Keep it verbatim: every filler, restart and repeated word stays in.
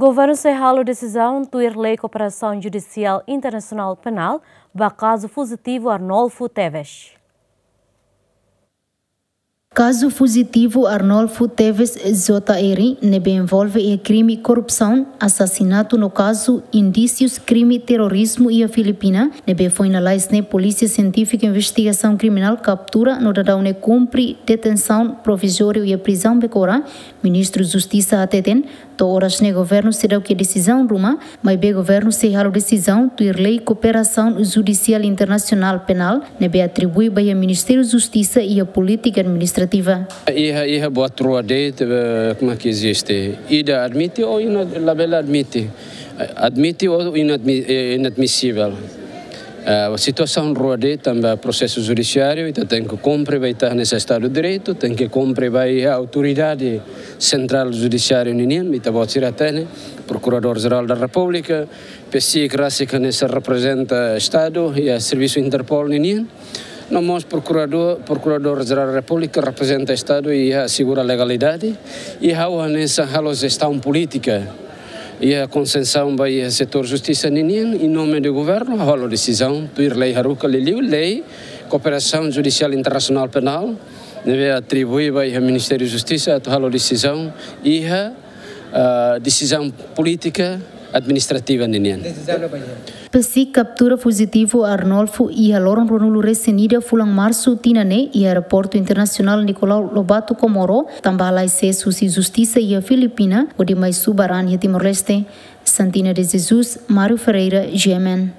Governu sei halo desizaun tuir lei kooperasaun judisiál internasionál penál ba kazu fuzitivu Arnolfo Teves. Kazu fuzitivu Arnolfo Teves J R, ne'ebé envolve iha krime korrupsaun, asasinatu no kazu indísius krime terrorizmu iha Filipina, ne'ebé foin lalais ne'e Polísia Sientífika Investigasaun Kriminál kaptura no daudaun ne'e kumpre detensaun provizóriu iha prizaun Becora, Ministru Justisa hateten, to'o oras ne'e governu seidauk iha desizaun ruma, maibé governu sei halo desizaun tuir lei kooperasaun judisiál internasionál penál, ne'ebé atribui ba iha Ministériu Justisa iha polítika administrativa. Iha, iha buat rua de'it, eh, como é que existe? Ida admite ou ina-, labele admite. Admite ou inadmi-, eh, inadmisivel. Eh, situasaun rua de'it tanba prosesu judisiáriu, ita tenke kumpre ba ita hanesan Estadu Direitu, tenke kumpre ba iha autoridade sentrál judisiáriu ninian, ita-boot sira hatene, Prokuradór Jerál da Repúblika, PCIC rasik hanesan reprezenta Estadu iha servisu Interpol ninian, no mós Prokuradór, Prokuradór Jerál Repúblika reprezenta Estadu iha asegura legalidade, i ha'u hanesan halo jestaun polítika iha konsensaun ba iha setór justisa ninian, em nome do governo, halo desizaun tuir lei haruka, liuliu lei kooperasaun judisiál internasionál penál, ne'ebé atribui ba iha Ministériu Justisa atu halo desizaun iha, ah, desizaun polítika administrativa ninian. PCIC kaptura fuzitivu Arnolfo iha loron ruanulu-resin-ida fulan Marsu tinan ne'e iha Aeroportu Internasionál Nicolau Lobato Comoro, tanba halai sees husi justisa iha Filipina, hodi mai subar an iha Timor-Leste. Santina de Jesus, Mário Ferreira, G M N.